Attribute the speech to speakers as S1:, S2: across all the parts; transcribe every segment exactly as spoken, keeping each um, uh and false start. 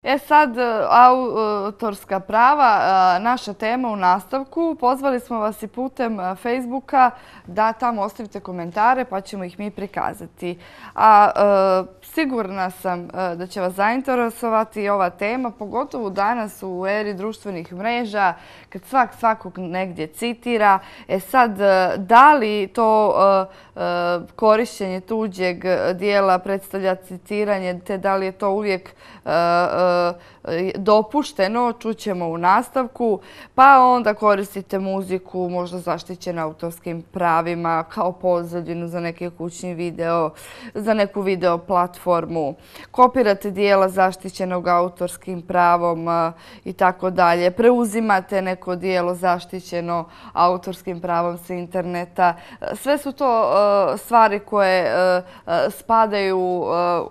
S1: E sad, autorska prava, naša tema u nastavku. Pozvali smo vas i putem Facebooka da tamo ostavite komentare pa ćemo ih mi prikazati. A sigurna sam da će vas zainteresovati ova tema, pogotovo danas u eri društvenih mreža, kad svak svakog negdje citira. E sad, da li to korištenje tuđeg dijela predstavlja citiranje, te da li je to uvijek dopušteno, čućemo u nastavku, pa onda koristite muziku možda zaštićenu autorskim pravima kao pozadinu za neki kućni video, za neku video platformu, kopirate dijela zaštićenog autorskim pravom i tako dalje, preuzimate neko dijelo zaštićeno autorskim pravom sa interneta. Sve su to stvari koje spadaju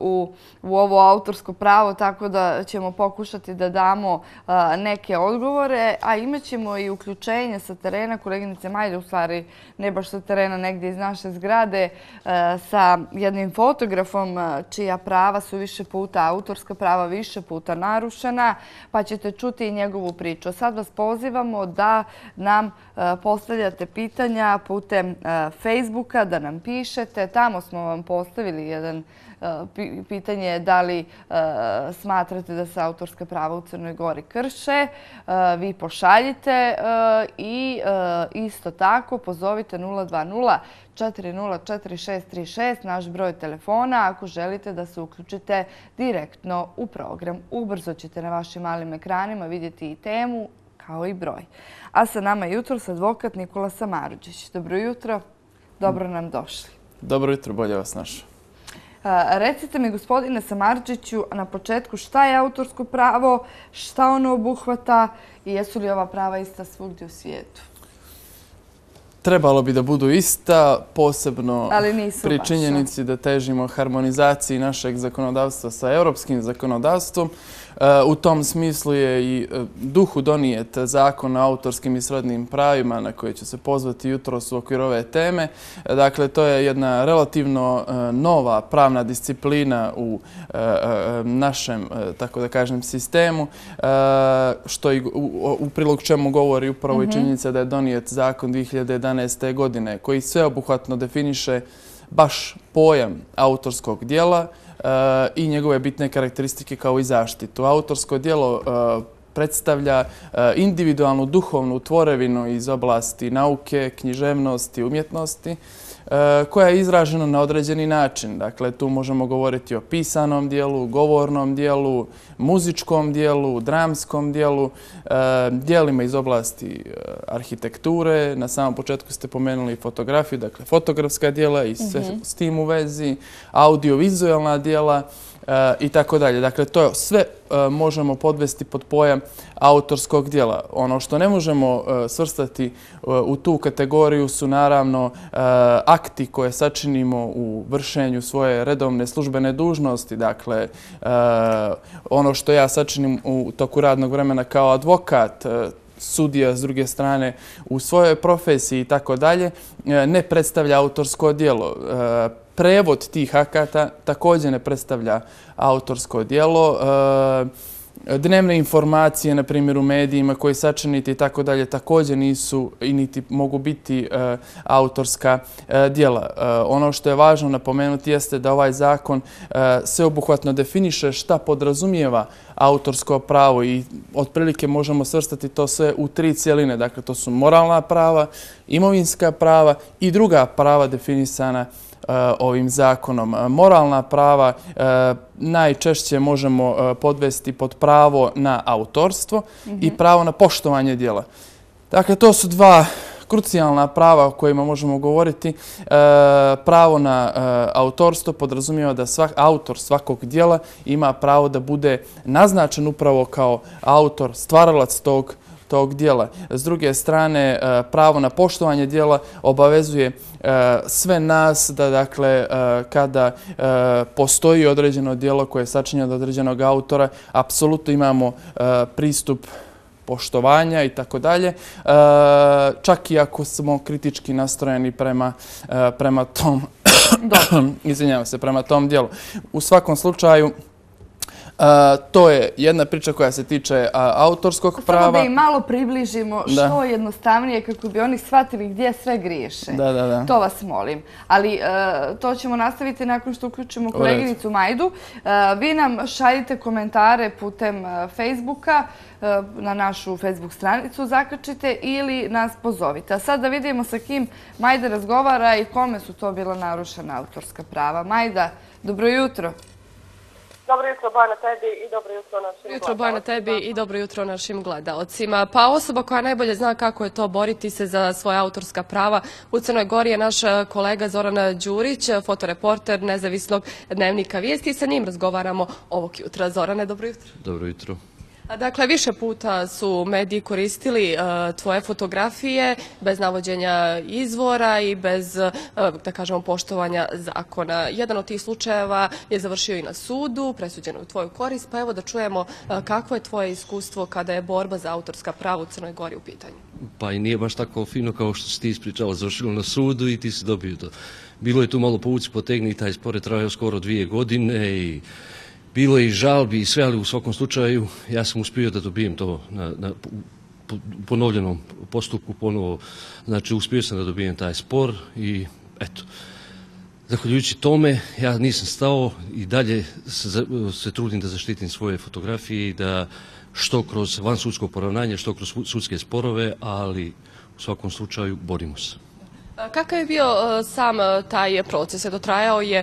S1: u, u ovo autorsko pravo, tako da ćemo pokušati da damo neke odgovore, a imat ćemo i uključenje sa terena, koleginice Majde, u stvari ne baš sa terena, negdje iz naše zgrade, sa jednim fotografom čija prava su više puta, autorska prava više puta narušena, pa ćete čuti i njegovu priču. Sad vas pozivamo da nam postavljate pitanja putem Facebooka, da nam pišete. Tamo smo vam postavili jedan pitanje da li smatrate da se autorska prava u Crnoj Gori krše. Vi pošaljite i isto tako pozovite nula dva nula četiri nula četiri šest tri šest, naš broj telefona, ako želite da se uključite direktno u program. Ubrzo ćete na vašim malim ekranima vidjeti i temu kao i broj. A sa nama je jutros advokat Nikola Samardžić. Dobro jutro, dobro nam došli.
S2: Dobro jutro, bolje vas našao.
S1: Recite mi, gospodine Samardžiću, na početku šta je autorsko pravo, šta ono obuhvata i jesu li ova prava ista svugdje u svijetu?
S2: Trebalo bi da budu ista, posebno pri
S1: baš,
S2: činjenici da težimo harmonizaciji našeg zakonodavstva sa europskim zakonodavstvom. U tom smislu je i duhu donijet zakon o autorskim i srodnim pravima na koje ću se pozvati jutros u okviru ove teme. Dakle, to je jedna relativno nova pravna disciplina u našem, tako da kažem, sistemu, što i u prilog čemu govori upravo i činjenica da je donijet zakon dvije hiljade jedanaeste. godine koji sveobuhvatno definiše baš pojam autorskog djela i njegove bitne karakteristike kao i zaštitu. Autorsko djelo predstavlja individualnu duhovnu tvorevinu iz oblasti nauke, književnosti, umjetnosti, koja je izražena na određeni način. Dakle, tu možemo govoriti o pisanom dijelu, govornom dijelu, muzičkom dijelu, dramskom dijelu, dijelima iz oblasti arhitekture. Na samom početku ste pomenuli fotografiju, dakle fotografska dijela i sve s tim u vezi, audiovizualna dijela i tako dalje. Dakle, to sve možemo podvesti pod pojam autorskog djela. Ono što ne možemo svrstati u tu kategoriju su naravno akti koje sačinimo u vršenju svoje redovne službene dužnosti. Dakle, ono što ja sačinim u toku radnog vremena kao advokat, sudija s druge strane u svojoj profesiji i tako dalje, ne predstavlja autorsko djelo. Prevod tih akata također ne predstavlja autorsko djelo. Dnevne informacije, na primjer u medijima koji sačinite i tako dalje, također nisu i niti mogu biti autorska djela. Ono što je važno napomenuti jeste da ovaj zakon sveobuhvatno definiše šta podrazumijeva autorsko pravo i otprilike možemo svrstati to sve u tri cjeline. Dakle, to su moralna prava, imovinska prava i druga prava definisana ovim zakonom. Moralna prava najčešće možemo podvesti pod pravo na autorstvo i pravo na poštovanje djela. Dakle, to su dva krucijalna prava o kojima možemo govoriti. Pravo na autorstvo podrazumijeva da autor svakog djela ima pravo da bude naznačen upravo kao autor, stvaralac tog tog djela. S druge strane, pravo na poštovanje djela obavezuje sve nas da, dakle, kada postoji određeno djelo koje je sačinjeno od određenog autora, apsolutno imamo pristup poštovanja i tako dalje, čak i ako smo kritički nastrojeni prema, prema tom izvinjavam se, prema tom djelu. U svakom slučaju, To je jedna priča koja se tiče autorskog prava.
S1: Samo da im malo približimo što jednostavnije kako bi oni shvatili gdje sve griješe.
S2: Da, da, da.
S1: To vas molim. Ali to ćemo nastaviti nakon što uključimo koleginicu Majdu. Vi nam šaljite komentare putem Facebooka, na našu Facebook stranicu zakačite ili nas pozovite. A sad da vidimo sa kim Majda razgovara i kome su to bila narušena autorska prava. Majda, dobro jutro.
S3: Dobro jutro, Bojana, tebi i dobro jutro našim gledalcima.
S4: Jutro, Bojana, tebi i dobro jutro našim gledalcima. Pa osoba koja najbolje zna kako je to boriti se za svoja autorska prava u Crnoj Gori je naš kolega Zoran Đurić, fotoreporter nezavisnog dnevnika Vijesti. Sa njim razgovaramo ovog jutra. Zorane, dobro jutro.
S5: Dobro jutro.
S4: Dakle, više puta su mediji koristili tvoje fotografije bez navođenja izvora i bez, da kažemo, poštovanja zakona. Jedan od tih slučajeva je završio i na sudu, presuđeno u tvoju korist, pa evo da čujemo kakvo je tvoje iskustvo kada je borba za autorska prava u Crnoj Gori u pitanju.
S5: Pa i nije baš tako fino kao što si ti ispričala, završilo na sudu i ti si dobio to. Bilo je tu malo povuci potegni, taj spor je trajao skoro dvije godine i bilo je i žalbi i sve, ali u svakom slučaju ja sam uspio da dobijem to na, na ponovljenom postupku, ponovo, znači uspio sam da dobijem taj spor i eto, zahvaljujući tome ja nisam stao i dalje se, se trudim da zaštitim svoje fotografije i da što kroz vansudsko poravnanje, što kroz sudske sporove, ali u svakom slučaju borimo se.
S4: Kakav je bio sam taj proces? Dotrajao je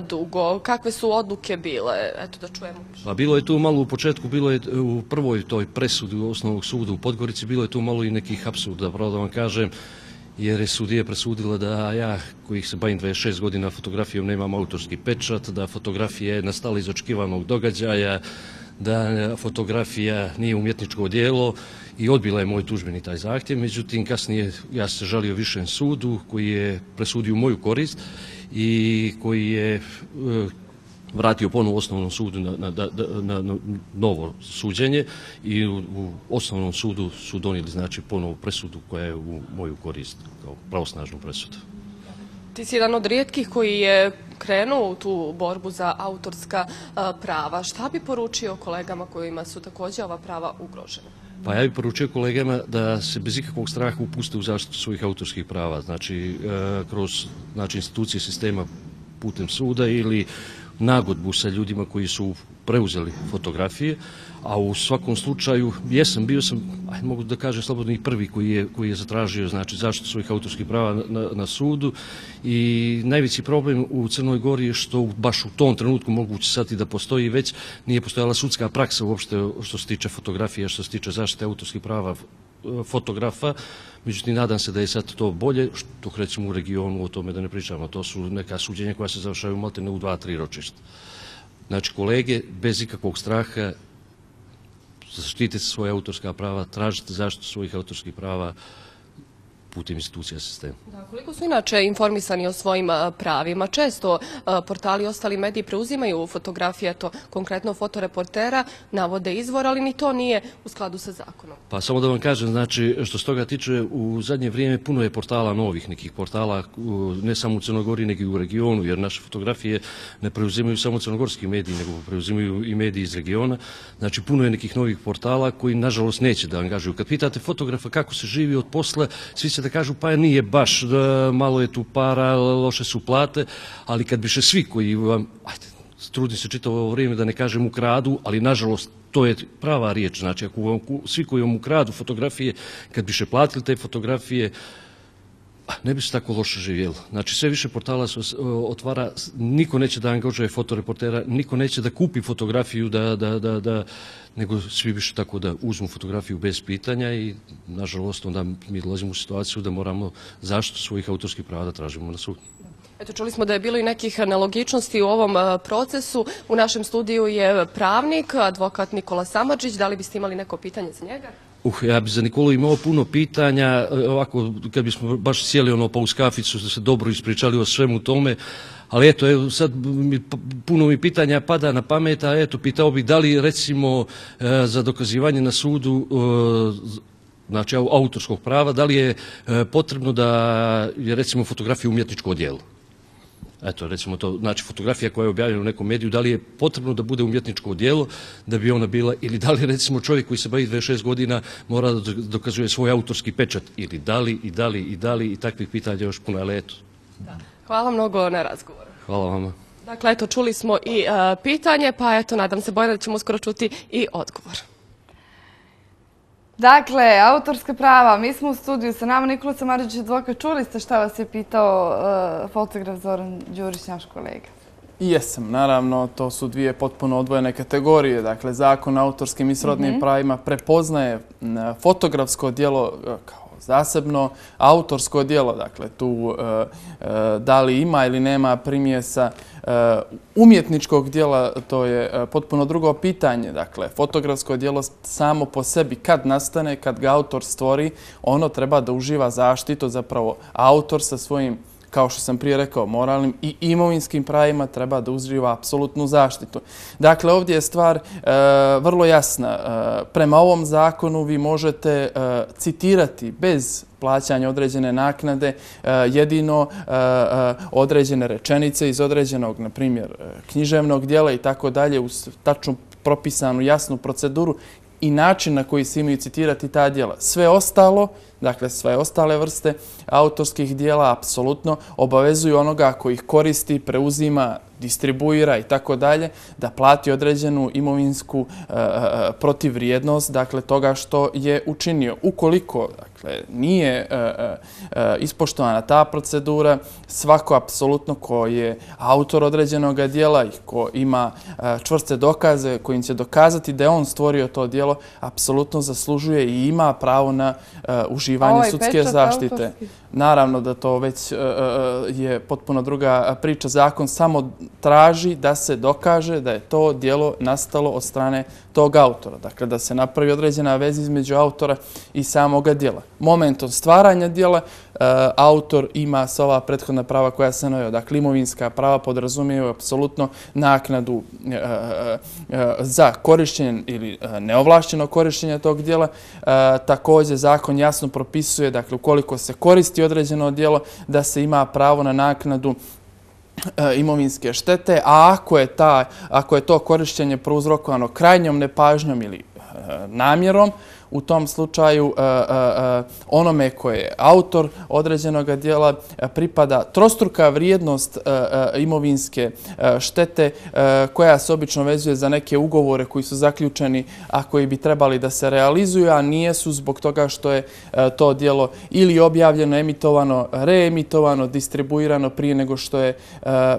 S4: dugo. Kakve su odluke bile? Eto da čujemo.
S5: Pa bilo je tu malo u početku, bilo je u prvoj toj presudi u osnovnog suda u Podgorici, bilo je tu malo i nekih apsurda, pravo da vam kažem, jer je sudija presudila da ja, kojih se bavim dvadeset šest godina fotografijom, nemam autorski pečat, da fotografija je nastala iz očekivanog događaja, da fotografija nije umjetničko djelo i odbila je moj tužbeni taj zahtjev. Međutim, kasnije ja se žalio višem sudu koji je presudio moju korist i koji je vratio ponovo osnovnom sudu na, na, na, na novo suđenje i u, u osnovnom sudu su donijeli znači ponovo presudu koja je u moju korist kao pravosnažnu presudu.
S4: Ti si jedan od rijetkih koji je krenuo u tu borbu za autorska prava. Šta bi poručio kolegama kojima su također ova prava ugrožena?
S5: Pa ja bih poručio kolegama da se bez ikakvog straha upuste u zaštitu svojih autorskih prava, znači kroz znači, institucije sistema putem suda ili nagodbu sa ljudima koji su preuzeli fotografije, a u svakom slučaju jesam, bio sam, aj, mogu da kažem slobodno i prvi koji je, koji je zatražio znači, zaštitu svojih autorskih prava na, na, na sudu i najveći problem u Crnoj Gori je što baš u tom trenutku moguće sad i da postoji već nije postojala sudska praksa uopšte što se tiče fotografije, što se tiče zaštite autorskih prava fotografa, međutim nadam se da je sad to bolje, što recimo u regionu o tome da ne pričamo, to su neka suđenja koja se završaju maltene u dva, tri ročišta. Znači kolege, bez ikakvog straha, zaštitite svoje autorska prava, tražite zaštitu svojih autorskih prava putem institucija sistema.
S4: Da, koliko su inače informisani o svojim pravima? Često portali i ostali mediji preuzimaju fotografije, to konkretno fotoreportera, navode izvor, ali ni to nije u skladu sa zakonom.
S5: Pa samo da vam kažem, znači što se toga tiče, u zadnje vrijeme puno je portala novih, nekih portala, ne samo u Crnoj Gori, nego i u regionu, jer naše fotografije ne preuzimaju samo crnogorski mediji, nego preuzimaju i mediji iz regiona. Znači puno je nekih novih portala koji nažalost neće da angažuju. Kad pitate fotografa kako se živi od posla, svi se da kažu pa nije baš, malo je tu para, loše su plate, ali kad biše svi koji vam, ajde, trudim se čitavo ovo vrijeme da ne kažem ukradu, ali nažalost to je prava riječ, znači ako vam, svi koji vam ukradu fotografije, kad biše platili te fotografije, ne bi se tako loše živjelo. Znači sve više portala se otvara, niko neće da angažuje fotoreportera, niko neće da kupi fotografiju, da, da, da, da, nego svi više tako da uzmu fotografiju bez pitanja i nažalost onda mi dolazimo u situaciju da moramo zaštitu svojih autorskih prava da tražimo na sudu.
S4: Eto, čuli smo da je bilo i nekih nelogičnosti u ovom procesu. U našem studiju je pravnik, advokat Nikola Samardžić. Da li biste imali neko pitanje za njega?
S5: Uh, ja bi za Nikolu imao puno pitanja, ovako kad bismo baš sjeli ono pa uz kaficu da se dobro ispričali o svemu tome, ali eto, evo, sad mi, puno mi pitanja pada na pamet, a eto, pitao bih da li recimo za dokazivanje na sudu znači autorskog prava, da li je potrebno da je recimo fotografija umjetničko djelo? Eto, recimo to, znači fotografija koja je objavljena u nekom mediju, da li je potrebno da bude umjetničko djelo da bi ona bila, ili da li recimo čovjek koji se bavi dvadeset šest godina mora da dokazuje svoj autorski pečat, ili da li, i da li, i da li, i takvih pitanja još puno, ali eto.
S4: Hvala mnogo na razgovoru.
S5: Hvala vama.
S4: Dakle, eto, čuli smo i uh, pitanje, pa eto, nadam se, Bojana, da ćemo uskoro čuti i odgovor.
S1: Dakle, autorska prava. Mi smo u studiju sa nama. Nikola Samardžić, advokat. Čuli ste šta vas je pitao uh, fotograf Zoran Đurić, naš kolega?
S2: Jesam, naravno, to su dvije potpuno odvojene kategorije. Dakle, Zakon o autorskim i srodnim mm-hmm. pravima prepoznaje fotografsko djelo kao zasebno, autorsko djelo, dakle, tu uh, uh, da li ima ili nema primjesa uh, umjetničkog djela, to je uh, potpuno drugo pitanje. Dakle, fotografsko djelo samo po sebi kad nastane, kad ga autor stvori, ono treba da uživa zaštitu, zapravo autor sa svojim, kao što sam prije rekao, moralnim i imovinskim pravima treba da uživa apsolutnu zaštitu. Dakle, ovdje je stvar e, vrlo jasna. E, prema ovom zakonu vi možete e, citirati bez plaćanja određene naknade e, jedino e, e, određene rečenice iz određenog, na primjer, književnog djela i tako dalje, uz tačnu propisanu jasnu proceduru i način na koji se imaju citirati ta djela. Sve ostalo, dakle sve ostale vrste autorskih djela apsolutno obavezuju onoga koji ih koristi, preuzima, distribuira i tako dalje, da plati određenu imovinsku e, protivvrijednost, dakle toga što je učinio. Ukoliko dakle, nije e, e, ispoštovana ta procedura, svako apsolutno ko je autor određenog djela i ko ima e, čvrste dokaze kojim će dokazati da je on stvorio to djelo, apsolutno zaslužuje i ima pravo na e, uživanje
S1: ovaj
S2: sudske zaštite.
S1: Autorski.
S2: Naravno da to već e, je potpuno druga priča. Zakon samo traži da se dokaže da je to djelo nastalo od strane tog autora. Dakle, da se napravi određena veza između autora i samoga djela. Momentom stvaranja djela e, autor ima sva ova prethodna prava koja se naveo. Dakle, imovinska prava podrazumijevaju apsolutno naknadu e, e, za korišćenje ili neovlašćeno korišćenje tog djela. E, također, zakon jasno propisuje, dakle, ukoliko se koristi određeno djelo, da se ima pravo na naknadu imovinske štete, a ako je, ta, ako je to korištenje prouzrokovano krajnjom nepažnjom ili namjerom, u tom slučaju onome koje je autor određenog djela pripada trostruka vrijednost imovinske štete koja se obično vezuje za neke ugovore koji su zaključeni, a koji bi trebali da se realizuju, a nijesu zbog toga što je to djelo ili objavljeno, emitovano, reemitovano, distribuirano prije nego što je,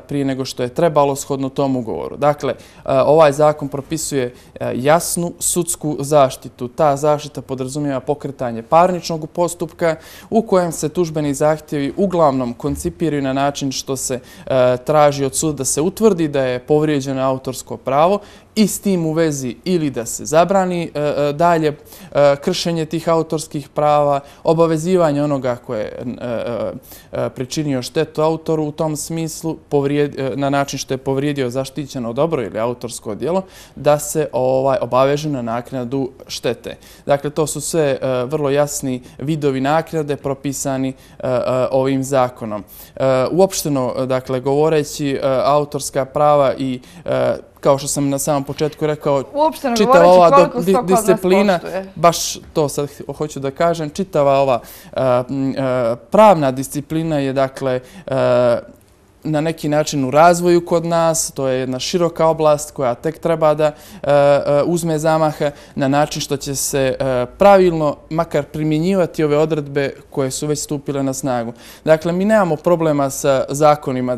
S2: prije nego što je trebalo shodno tom ugovoru. Dakle, ovaj zakon propisuje jasnu sudsku zaštitu. Ta zaštita podrazumijeva pokretanje parničnog postupka u kojem se tužbeni zahtjevi uglavnom koncipiraju na način što se e, traži od suda da se utvrdi da je povrijeđeno autorsko pravo i s tim u vezi ili da se zabrani e, dalje e, kršenje tih autorskih prava, obavezivanje onoga koje je e, e, pričinio štetu autoru u tom smislu povrijed, e, na način što je povrijedio zaštićeno dobro ili autorsko djelo, da se ovaj, obaveže na naknadu štete. Dakle, to su sve e, vrlo jasni vidovi naknade propisani e, e, ovim zakonom. E, uopšteno, dakle, govoreći, e, autorska prava i e, kao što sam na samom početku rekao,
S1: uopšteno
S2: čitava ova
S1: koliko sto kod nas
S2: disciplina,
S1: poštuje.
S2: baš to sad hoću da kažem, čitava ova uh, uh, pravna disciplina je dakle uh, na neki način u razvoju kod nas. To je jedna široka oblast koja tek treba da uh, uzme zamaha na način što će se uh, pravilno makar primjenjivati ove odredbe koje su već stupile na snagu. Dakle, mi nemamo problema sa zakonima.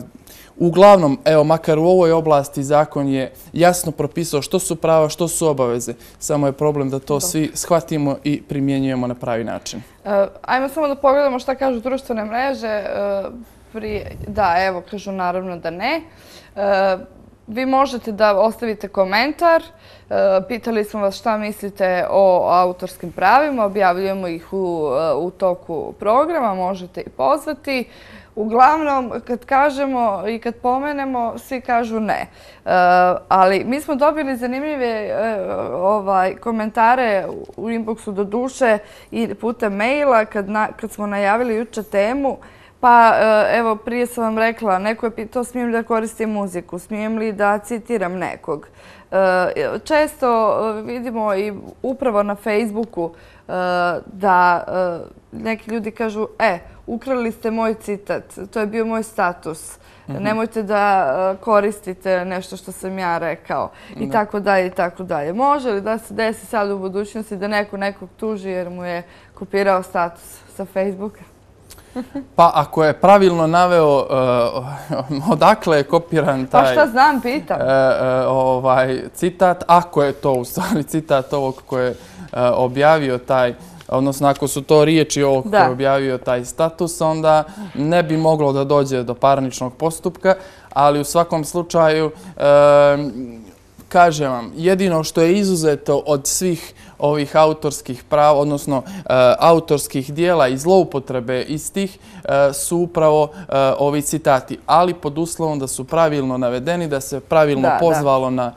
S2: Uglavnom, evo, makar u ovoj oblasti zakon je jasno propisao što su prava, što su obaveze. Samo je problem da to svi shvatimo i primjenjujemo na pravi način.
S1: Uh, ajmo samo da pogledamo šta kažu društvene mreže. Uh, prije, da, evo, kažu naravno da ne. Uh, vi možete da ostavite komentar. Uh, pitali smo vas šta mislite o autorskim pravima. Objavljujemo ih u, uh, u toku programa. Možete i pozvati. Uglavnom, kad kažemo i kad pomenemo, svi kažu ne. Uh, ali mi smo dobili zanimljive uh, ovaj, komentare u inboxu do duše i putem maila kad, na, kad smo najavili juče temu. Pa evo, prije sam vam rekla, neko je pitao smijem li da koristim muziku, smijem li da citiram nekog. Često vidimo i upravo na Facebooku da neki ljudi kažu e, ukrali ste moj citat, to je bio moj status. Nemojte da koristite nešto što sam ja rekao i tako dalje i tako dalje. Može li da se desi sad u budućnosti da neko nekog tuži jer mu je kopirao status sa Facebooka?
S2: Pa ako je pravilno naveo odakle je kopiran taj...
S1: Pa šta znam, pitam.
S2: Citat, ako je to u stvari citat ovog koji je objavio taj, odnosno ako su to riječi ovog koji je objavio taj status, onda ne bi moglo da dođe do parničnog postupka, ali u svakom slučaju, kažem vam, jedino što je izuzeto od svih ovih autorskih prava, odnosno autorskih dijela i zloupotrebe istih su upravo ovi citati, ali pod uslovom da su pravilno navedeni, da se pravilno pozvalo na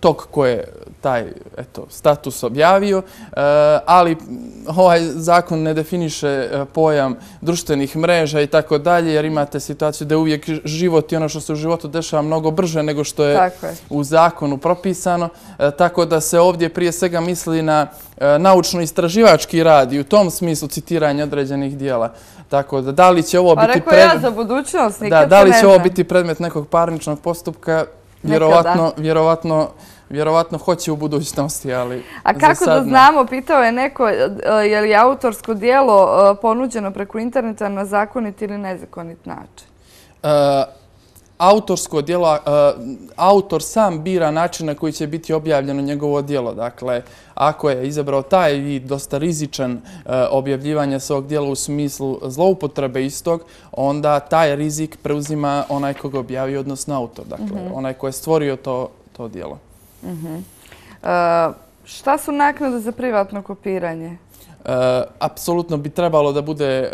S2: tog koje je taj status objavio, ali ovaj zakon ne definiše pojam društvenih mreža i tako dalje, jer imate situaciju da je uvijek život i ono što se u životu dešava mnogo brže nego što je u zakonu propisano, tako da se ovdje prije svega misli na naučno-istraživački rad i u tom smislu citiranje određenih dijela. Tako da, da li će ovo biti
S1: predmet... Pa rekao ja za budućnost, nikad se ne
S2: Da li će ovo biti predmet nekog parničnog postupka, vjerovatno hoće u budućnosti, ali...
S1: A kako da znamo, pitao je neko, je li autorsko dijelo ponuđeno preko interneta na zakonit ili nezakonit način?
S2: Autorsko dijelo, autor sam bira način na koji će biti objavljeno njegovo dijelo. Dakle, ako je izabrao taj vid dosta rizičan objavljivanja svog dijela u smislu zloupotrebe istog, onda taj rizik preuzima onaj koga objavio, odnosno autor. Dakle, onaj ko je stvorio to dijelo.
S1: Šta su naknade za privatno kopiranje?
S2: Apsolutno bi trebalo da bude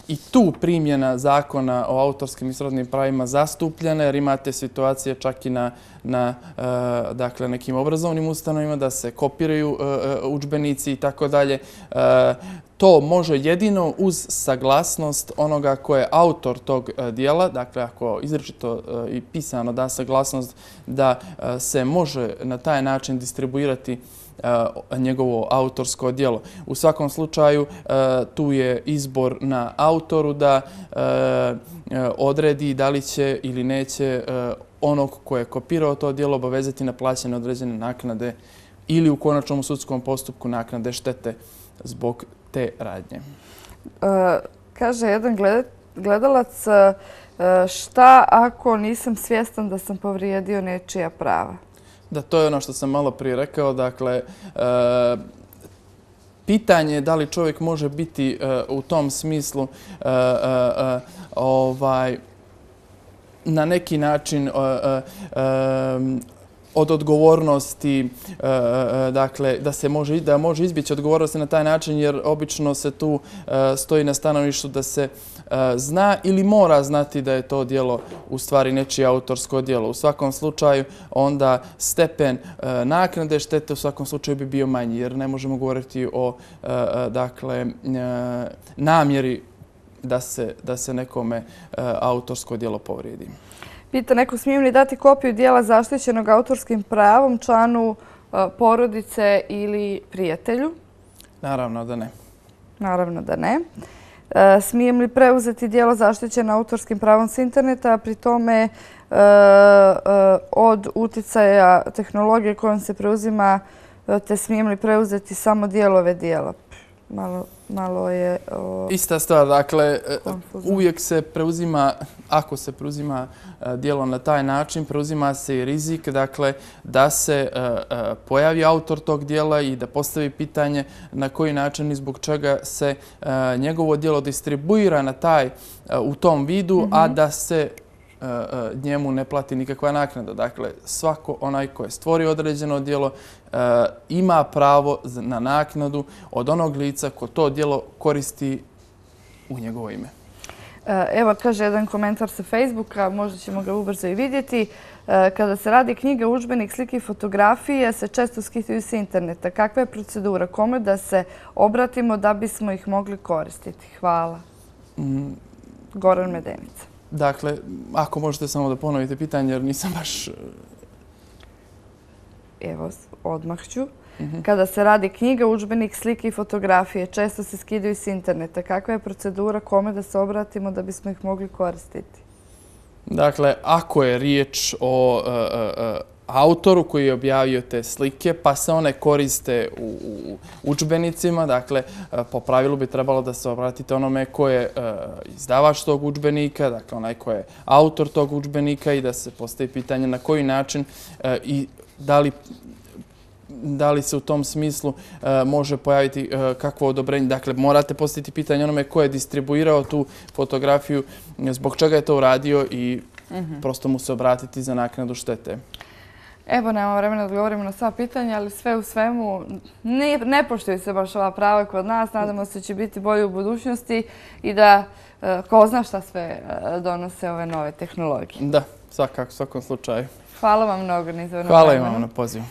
S2: i tu primjena zakona o autorskim i srodnim pravima zastupljena, jer imate situacije čak i na nekim obrazovnim ustanovima da se kopiraju udžbenici i tako dalje. To može jedino uz saglasnost onoga ko je autor tog dijela, dakle ako izričito i pisano da saglasnost da se može na taj način distribuirati njegovo autorsko djelo. U svakom slučaju tu je izbor na autoru da odredi da li će ili neće onog ko je kopirao to djelo obavezati na plaćanje određene naknade ili u konačnom sudskom postupku naknade štete zbog te radnje.
S1: Kaže jedan gledalac, šta ako nisam svjestan da sam povrijedio nečija prava?
S2: Da, to je ono što sam malo prije rekao. Dakle, pitanje je da li čovjek može biti u tom smislu na neki način od odgovornosti, dakle, da se može, da može izbjeći odgovornosti na taj način, jer obično se tu stoji na stanovištu da se zna ili mora znati da je to djelo u stvari nečije autorsko djelo. U svakom slučaju onda stepen naknade štete u svakom slučaju bi bio manji, jer ne možemo govoriti o dakle namjeri da se nekome autorsko djelo povrijedi.
S1: Pita neko, smijem li dati kopiju dijela zaštićenog autorskim pravom članu porodice ili prijatelju?
S2: Naravno da ne.
S1: Naravno da ne. Smijem li preuzeti dijelo zaštićeno autorskim pravom s interneta, a pri tome od uticaja tehnologije kojom se preuzima, te smijem li preuzeti samo dijelove dijela? Malo je...
S2: Ista stvar, dakle, uvijek se preuzima, ako se preuzima djelo na taj način, preuzima se i rizik, dakle, da se pojavi autor tog djela i da postavi pitanje na koji način i zbog čega se njegovo djelo distribuira na taj, u tom vidu, a da se njemu ne plati nikakva naknada. Dakle, svako onaj ko je stvorio određeno djelo ima pravo na naknadu od onog lica ko to djelo koristi u njegovo ime.
S1: Evo, kaže jedan komentar sa Facebooka, možda ćemo ga ubrzo i vidjeti. Kada se radi knjiga, udžbenik, slike i fotografije se često skidaju s interneta. Kakva je procedura? Kome da se obratimo da bismo ih mogli koristiti? Hvala. Goran Medenica.
S2: Dakle, ako možete samo da ponovite pitanje, jer nisam baš...
S1: Evo, odmah ću. Kada se radi knjiga, udžbenik, slike i fotografije često se skidaju s interneta. Kakva je procedura? Kome da se obratimo da bismo ih mogli koristiti?
S2: Dakle, ako je riječ o uh, uh, autoru koji je objavio te slike, pa se one koriste u, u udžbenicima, dakle, uh, po pravilu bi trebalo da se obratite onome ko je uh, izdavač tog udžbenika, dakle, onaj ko je autor tog udžbenika i da se postavi pitanje na koji način uh, i da li da li se u tom smislu uh, može pojaviti uh, kakvo odobrenje. Dakle, morate postaviti pitanje onome ko je distribuirao tu fotografiju, zbog čega je to uradio i mm-hmm. prosto mu se obratiti za naknadu štete.
S1: Evo, nemamo vremena da odgovorimo na sva pitanja, ali sve u svemu ne, ne poštuju se baš ova prava kod nas. Nadamo se da će biti bolje u budućnosti i da uh, ko zna šta sve uh, donose ove nove tehnologije.
S2: Da, svakako, u svakom slučaju.
S1: Hvala vam mnogo na izvornom
S2: Hvala
S1: vremenu.
S2: vam na pozivu.